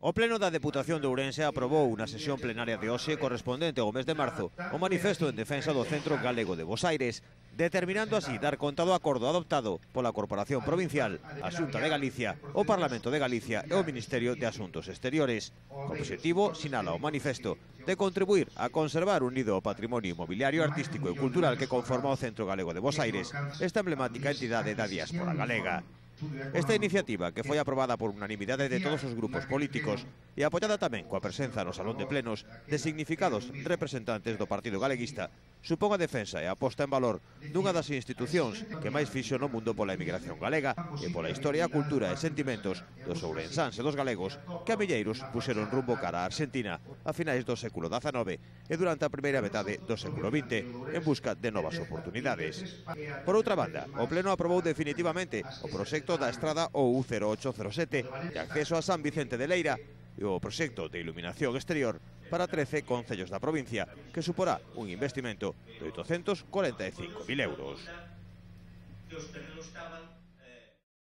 O Pleno da Deputación de Ourense aprobou unha sesión plenaria de hoxe correspondente ao mes de marzo o manifesto en defensa do Centro Galego de Bosaires, determinando así dar conta do acordo adoptado pola Corporación Provincial, a Xunta de Galicia, o Parlamento de Galicia e o Ministerio de Asuntos Exteriores. O obxectivo, sinala o manifesto, de contribuir a conservar unido o patrimonio inmobiliario, artístico e cultural que conforma o Centro Galego de Bosaires, esta emblemática entidade da diáspora galega. Esta iniciativa, que foi aprobada por unanimidade de todos os grupos políticos e apoiada tamén coa presenza no Salón de Plenos de significados representantes do Partido Galeguista, supón a defensa e a posta en valor dunha das institucións que máis fixo no mundo pola emigración galega e pola historia, cultura e sentimentos dos ourensáns e dos galegos que a milleiros puxeron rumbo cara a Argentina a finais do século XIX e durante a primeira metade do século XX en busca de novas oportunidades. Por outra banda, o Pleno aprobou definitivamente o proxecto da estrada OU0807 de acceso a San Vicente de Leira e o proxecto de iluminación exterior para 13 concellos da provincia, que suporá un investimento de 845.000 euros.